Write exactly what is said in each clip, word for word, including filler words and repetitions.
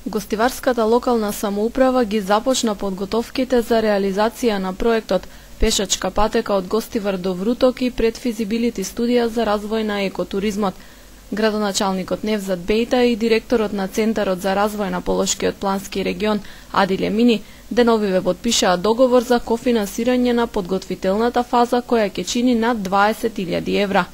Гостиварската локална самоуправа ги започна подготовките за реализација на проектот Пешачка патека од Гостивар до Вруток и предфизибилити студија за развој на екотуризмот. Градоначалникот Невзат Бејта и директорот на Центарот за развој на Полошкиот плански регион Адиле Мини деновиве подпишаа договор за кофинансирање на подготвителната фаза која ќе чини над дваесет илјади евра.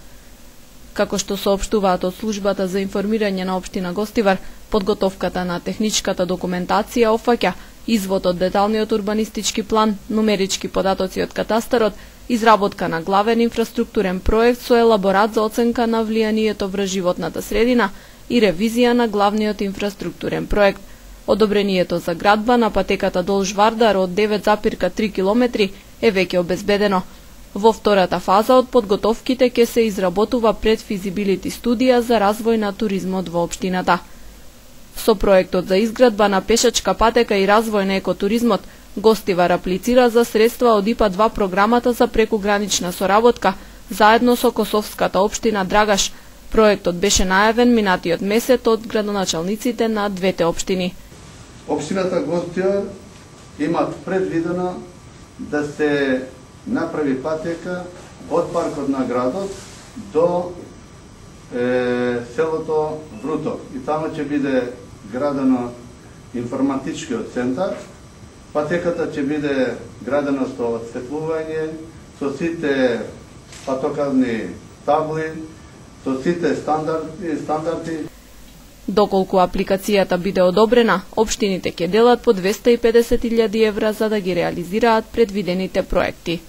Како што соопштуваат од службата за информирање на општина Гостивар, подготовката на техничката документација опфаќа извод од деталниот урбанистички план, нумерички податоци од катастарот, изработка на главен инфраструктурен проект со елаборат за оценка на влијанието врз животната средина и ревизија на главниот инфраструктурен проект. Одобрението за градба на патеката Долж Вардар од девет запирка три километри е веќе обезбедено. Во втората фаза од подготовките ќе се изработува предфизибилити студија за развој на туризмот во општината. Со проектот за изградба на пешачка патека и развој на екотуризмот, Гостивар аплицира за средства од ИПА два програмата за прекугранична соработка, заедно со косовската општина Драгаш. Проектот беше најавен минатиот месец од градоначалниците на двете општини. Општината Гостивар има предвидено да се направи патека од паркот на градот до е, селото Вруток. И таму ќе биде градено информатичкиот центар. Патеката ќе биде градена со осветлување, со сите патоказни табли, со сите стандарди, стандарди. Доколку апликацијата биде одобрена, општините ќе делат по двесте и педесет илјади евра за да ги реализираат предвидените проекти.